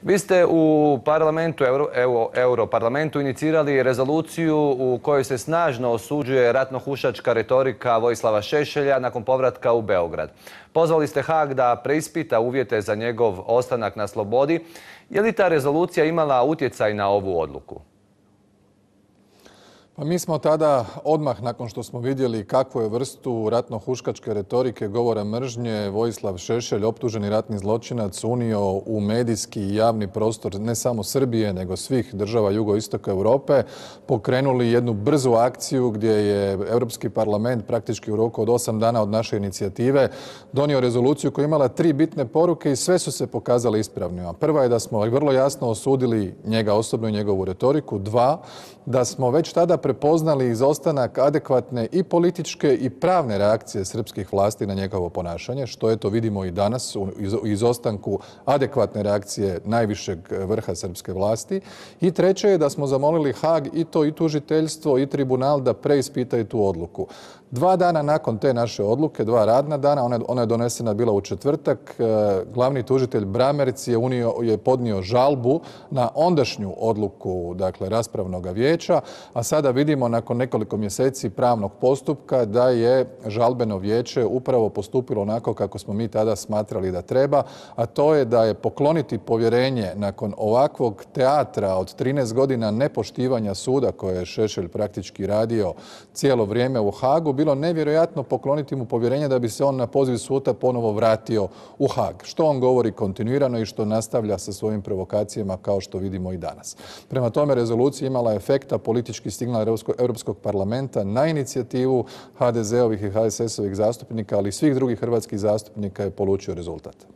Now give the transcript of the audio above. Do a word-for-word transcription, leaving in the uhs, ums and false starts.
Vi ste u parlamentu, Euro, Euro, Europarlamentu inicirali rezoluciju u kojoj se snažno osuđuje ratnohuškačka retorika Vojislava Šešelja nakon povratka u Beograd. Pozvali ste Haag da preispita uvjete za njegov ostanak na slobodi. Je li ta rezolucija imala utjecaj na ovu odluku? Pa mi smo tada, odmah nakon što smo vidjeli kakvu je vrstu ratno-huškačke retorike, govora mržnje Vojislav Šešelj, optuženi ratni zločinac, unio u medijski i javni prostor ne samo Srbije, nego svih država jugoistoka Europe, pokrenuli jednu brzu akciju gdje je Europski parlament praktički u roku od osam dana od naše inicijative donio rezoluciju koja je imala tri bitne poruke i sve su se pokazale ispravnima. Prva je da smo vrlo jasno osudili njega osobno i njegovu retoriku. Dva, da smo već tada prepoznali izostanak adekvatne i političke i pravne reakcije srpskih vlasti na njegovo ponašanje, što eto vidimo i danas u izostanku adekvatne reakcije najvišeg vrha srpske vlasti. I treće je da smo zamolili Haag i to i tužiteljstvo i tribunal da preispitaju tu odluku. Dva dana nakon te naše odluke, dva radna dana, ona, ona je donesena bila u četvrtak, glavni tužitelj Bramerc je, unio, je podnio žalbu na ondašnju odluku, dakle, raspravnog vijeća, a sada vidimo nakon nekoliko mjeseci pravnog postupka da je žalbeno vijeće upravo postupilo onako kako smo mi tada smatrali da treba, a to je da je pokloniti povjerenje nakon ovakvog teatra od trinaest godina nepoštivanja suda koje je Šešelj praktički radio cijelo vrijeme u Haagu, bilo nevjerojatno pokloniti mu povjerenje da bi se on na poziv suda ponovo vratio u Haag. Što on govori kontinuirano i što nastavlja sa svojim provokacijama kao što vidimo i danas. Prema tome, rezolucija imala efekta, politički signal Europskog parlamenta na inicijativu ha de ze ovih i ha es es ovih zastupnika, ali i svih drugih hrvatskih zastupnika je polučio rezultat.